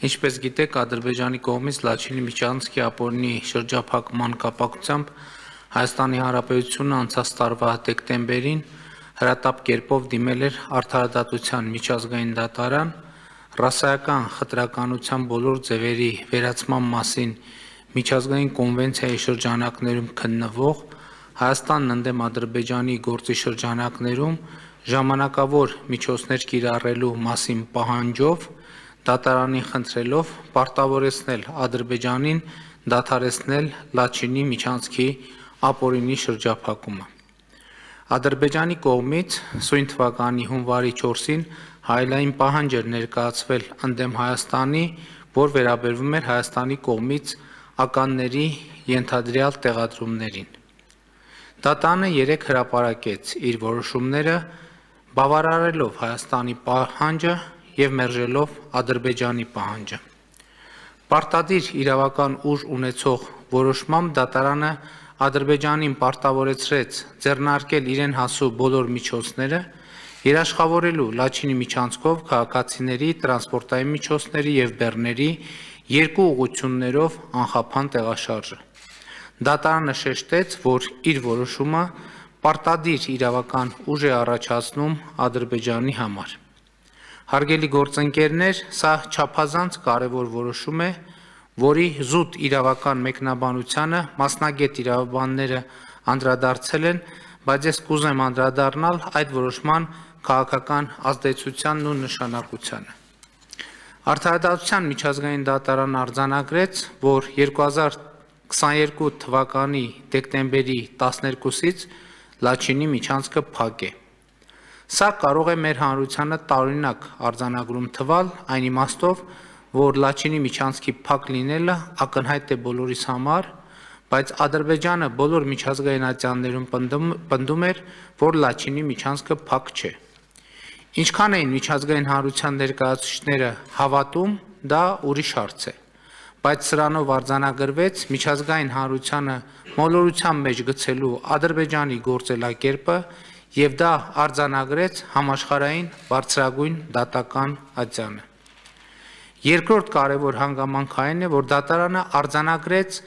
Ինչպես գիտեք, Ադրբեջանի կողմից Լաչինի միջանցքի ապօրինի շրջափակման կապակցությամբ Հայաստանի Հանրապետությունը անցած տարվա դեկտեմբերին հրատապ կերպով դիմել էր Արդարադատության միջազգային դատարան ռասայական խտրականության բոլոր ձևերի վերացման մասին միջազգային կոնվենցիայի շրջանակներում քննվող Հայաստանն ընդդեմ Ադրբեջանի գործի շրջանակներում ժամանակավոր միջոցներ կիրառելու մասին պահանջով դատարանին խնդրելով պարտավորեցնել Ադրբեջանին դադարեցնել Լաչինի միջանցքի ապօրինի շրջափակումը։ Ադրբեջանի կողմից սույն թվականի հունվարի 4-ին հայելային պահանջ էր ներկայացվել ընդդեմ Հայաստանի, որ վերաբերվում էր Հայաստանի կողմից ականների ենթադրյալ տեղադրումներին։ Դատարանը 3 հրապարակեց իր որոշումները, բավարարելով Հայաստանի պահանջը և մերժելով Ադրբեջանի պահանջը։ Պարտադիր իրավական ուժ ունեցող որոշմամբ դատարանը Ադրբեջանին պարտավորեցրեց ձեռնարկել իրեն հասու բոլոր միջոցները, երաշխավորելու Լաչինի միջանցքով քաղաքացիների, տրանսպորտային միջոցների և բեռների երկու ուղղություններով անխափան տեղաշարժը։ Դատարանը շեշտեց, որ իր որոշումը պարտադիր իրավական ուժ է առաջացնում Ադրբեջանի համար։ Հարգելի գործընկերներ, սա չափազանց կարևոր որոշում է, որի զուտ իրավական մեկնաբանությանը մասնագետ իրավաբանները անդրադարձել են, բայց ես կուզեմ անդրադառնալ այդ որոշման քաղաքական ազդեցությանն ու նշանակությանը։ Արդարադատության միջազգային դատարանը արձանագրեց, որ 2022 թվականի դեկտեմբերի 12-ից Լաչինի միջանցքը փակ է։ Սա կարող է մեր հանրությանը տարօրինակ արձանագրում թվալ այն իմաստով, որ Լաչինի միջանցքի փակ լինելը ակնհայտ է բոլորիս համար, բայց Ադրբեջանը բոլոր միջազգային ատյաններում պնդում էր, որ Լաչինի միջանցքը փակ չէ։ Ինչքան էին միջազգային հանրության ներկայացուցիչները հավատում, դա ուրիշ հարց է, բայց սրանով արձանագրվեց միջազգային հանրությանը մոլորության մեջ գցելու Ադրբեջանի գործելակերպը և դա արձանագրեց համաշխարհային բարձրագույն դատական ատյանը։ Երկրորդ կարևոր հանգամանքը այն է, որ դատարանը արձանագրեց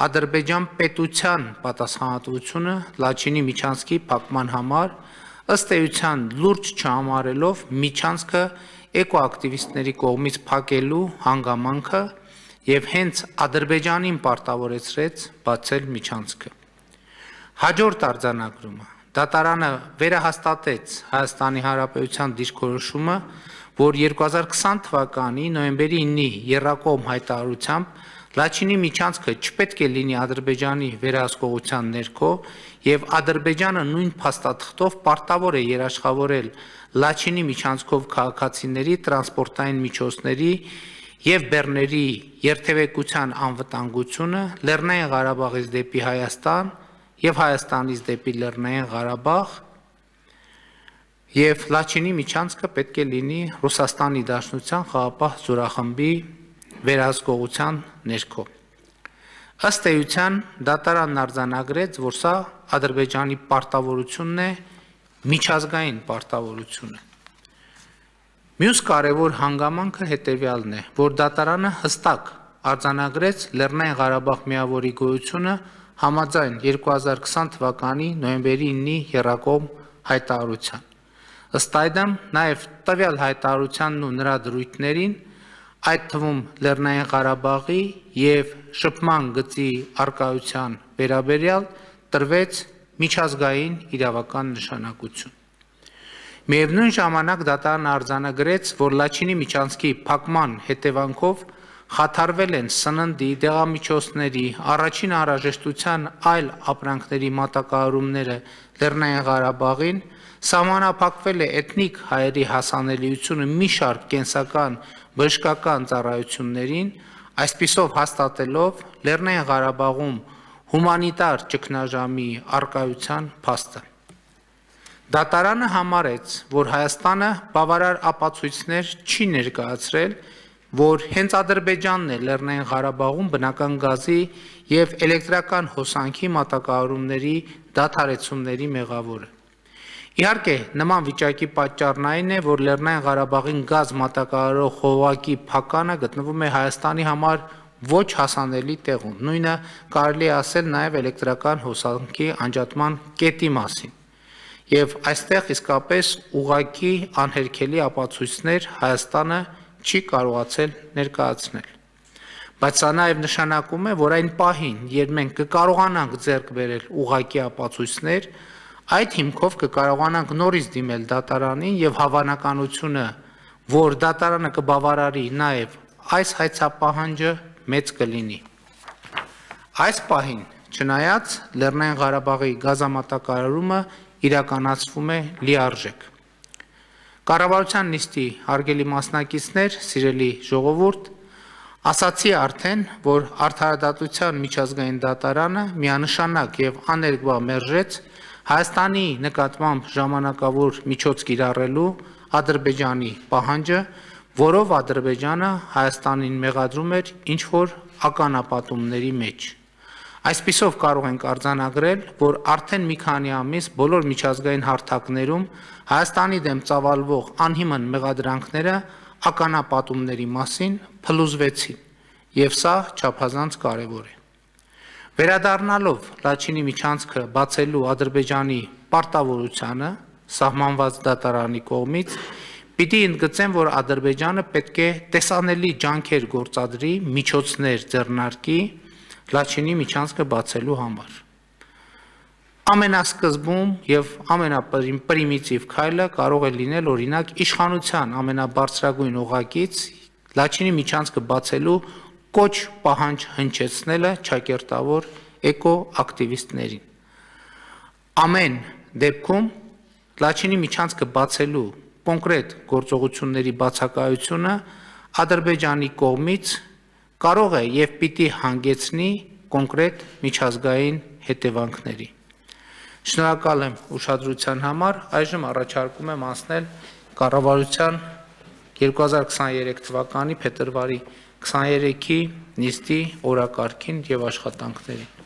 Ադրբեջան պետության պատասխանատվությունը Լաչինի միջանցքի փակման համար, ըստ էության լուրջ չհամարելով միջանցքը էկոակտիվիստների կողմից փակելու հանգամանքը և հենց Ադրբեջանին պարտավորեցրեց բացել միջանցքը։ Հաջորդ արձանագրումը դատարանը վերահաստատեց Հայաստանի Հանրապետության դիրքորոշումը, որ 2020 թվականի նոյեմբերի 9-ի եռակողմ հայտարարությամբ Լաչինի միջանցքը չպետք է լինի Ադրբեջանի վերահսկողության ներքո և Ադրբեջանը նույն փաստաթղթով պարտավոր է երաշխավորել Լաչինի միջանցքով քաղաքացիների, տրանսպորտային միջոցների և բեռների երթևեկության անվտանգությունը Լեռնային Ղարաբաղից դեպի Հայաստան և Հայաստանից դեպի Լեռնային Ղարաբաղ և Լաչինի միջանցքը պետք է լինի Ռուսաստանի Դաշնության խաղաղապահ զորախմբի վերահսկողության ներքո։ Ըստ էության դատարանն արձանագրեց, որ սա Ադրբեջանի պարտավորությունն է, միջազգային պարտավորությունը։ Մյուս կարևոր հանգամանքը հետևյալն է, որ դատարանը հստակ արձանագրեց Լեռնային Ղարաբաղ միավորի գոյությունը համաձայն 2020 թվականի նոյեմբերի 9-ի եռակողմ հայտարարության։ Ըստ այդմ, նաև տվյալ հայտարարությանն ու նրա դրույթներին, այդ թվում Լեռնային Ղարաբաղի և շփման գծի առկայության վերաբերյալ տրվեց միջազգային իրավական նշանակություն։ Միևնույն ժամանակ դատարանը արձանագրեց, որ Լաչինի միջանցքի փակման հետևանքով խաթարվել են սննդի, դեղամիջոցների, առաջին անհրաժեշտության այլ ապրանքների մատակարարումները Լեռնային Ղարաբաղին, սահմանափակվել է էթնիկ հայերի հասանելիությունը մի շարք կենսական բժշկական ծառայություններին, այսպիսով հաստատելով Լեռնային Ղարաբաղում հումանիտար ճգնաժամի առկայության փաստը։ Դատարանը համարեց, որ Հայաստանը բավարար ապացույցներ չի ներկայացրել, որ հենց Ադրբեջանն է Լեռնային Ղարաբաղում բնական գազի և էլեկտրական հոսանքի մատակարարումների դադարեցումների մեղավորը։ Իհարկե, նման վիճակի պատճառն այն է, որ Լեռնային Ղարաբաղին գազ մատակարարող խողովակի փականը գտնվում է Հայաստանի համար ոչ հասանելի տեղում։ Նույնը կարելի է ասել նաև էլեկտրական հոսանքի անջատման կետի մասին։ Եվ այստեղ իսկապես ուղղակի անհերքելի ապացույցներ Հայաստանը չի կարողացել ներկայացնել։ Բայց սա նաև նշանակում է, որ այն պահին, երբ մենք կկարողանանք ձեռք բերել ուղղակի ապացույցներ, այդ հիմքով կկարողանանք նորից դիմել դատարանին եւ հավանականությունը, որ դատարանը կբավարարի նաև այս հայցապահանջը մեծ կլինի։ Այս պահին, չնայած Լեռնային Ղարաբաղի գազամատակարարումը իրականացվում է լիարժեք։ Կառավարության նիստի հարգելի մասնակիցներ, սիրելի ժողովուրդ, ասացի արդեն, որ Արդարադատության միջազգային դատարանը միանշանակ եւ աներկբա մերժեց Հայաստանի նկատմամբ ժամանակավոր միջոց կիրառելու Ադրբեջանի պահանջը, որով Ադրբեջանը Հայաստանին մեղադրում էր ինչ-որ ականապատումների մեջ։ Այսպիսով կարող ենք արձանագրել, որ արդեն մի քանի ամիս բոլոր միջազգային հարթակներում Հայաստանի դեմ ծավալվող անհիմն մեղադրանքները ականապատումների մասին փլուզվեցին, եւ սա չափազանց կարեւոր է։ Վերադառնալով Լաչինի միջանցքը բացելու Ադրբեջանի պարտավորությանը սահմանված դատարանի կողմից, պիտի ընդգծեմ, որ Ադրբեջանը պետք է տեսանելի ջանքեր գործադրի միջոցներ ձեռնարկի Լաչինի միջանցքը բացելու համար։ Ամենասկզբում եւ ամենապրիմիտիվ քայլը կարող է լինել օրինակ իշխանության ամենաբարձրագույն օղակից Լաչինի միջանցքը բացելու կոչ պահանջ հնչեցնելը ճակերտավոր էկոակտիվիստներին։ Ամեն դեպքում Լաչինի միջանցքը բացելու կոնկրետ գործողությունների բացակայությունը Ադրբեջանի կողմից կարող է եւ պիտի հանգեցնի կոնկրետ միջազգային հետևանքների։ Շնորհակալ եմ ուշադրության համար, այժմ առաջարկում եմ անցնել կառավարության 2023 թվականի փետրվարի 23-ի նիստի օրակարգին եւ աշխատանքներին։